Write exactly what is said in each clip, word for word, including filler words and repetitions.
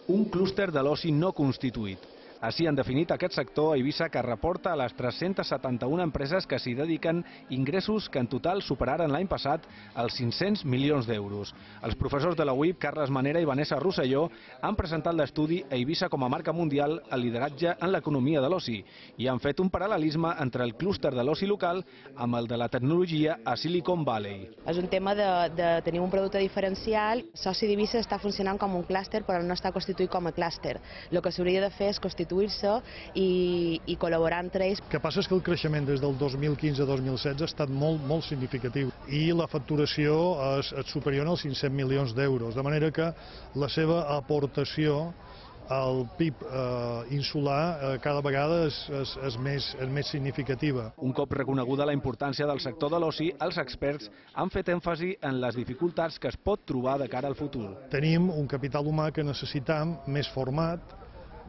un clúster de l'oci no constituït. Així han definit aquest sector a Eivissa, que reporta a les tres-centes setanta-una empreses que s'hi dediquen ingressos que en total superaren l'any passat els cinc-cents milions d'euros. Els professors de la U I P, Carles Manera i Vanessa Rosselló, han presentat l'estudi Eivissa com a marca mundial al lideratge en l'economia de l'oci i han fet un paral·lelisme entre el clúster de l'oci local amb el de la tecnologia a Silicon Valley. És un tema de, de tenir un producte diferencial. Soci d'Eivissa està funcionant com un clúster, però no està constituït com a clúster. El que s'hauria de fer és constituir I, i col·laborar entre ells. El que passa és que el creixement des del dos mil quinze a dos mil setze ha estat molt, molt significatiu i la facturació és, és superior als cinc-cents milions d'euros, de manera que la seva aportació al P I B eh, insular eh, cada vegada és, és, és, més, és més significativa. Un cop reconeguda la importància del sector de l'oci, els experts han fet èmfasi en les dificultats que es pot trobar de cara al futur. Tenim un capital humà que necessitam més format,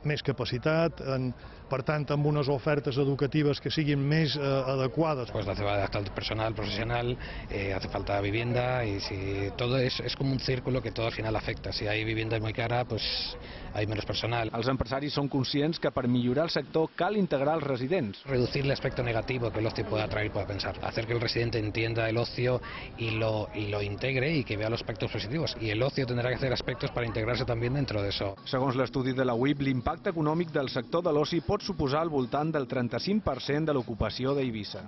més capacitat, en, per tant, amb unes ofertes educatives que siguin més eh, adecuades. Pues hace falta personal profesional, eh, hace falta vivienda y si todo es, es como un círculo que todo al final afecta. Si hay vivienda muy cara, pues hay menos personal. Els empresaris són conscients que per millorar el sector cal integrar els residents. Reducir el aspecto negativo que el ocio pueda traer y pueda pensar. Hacer que el residente entienda el ocio y lo, y lo integre y que vea los aspectos positivos. Y el ocio tendrá que hacer aspectos para integrarse también dentro de eso. Segons l'estudi de la U I P, l'impacte econòmic del sector de l'oci pot suposar al voltant del trenta-cinc per cent de l'ocupació d'Eivissa.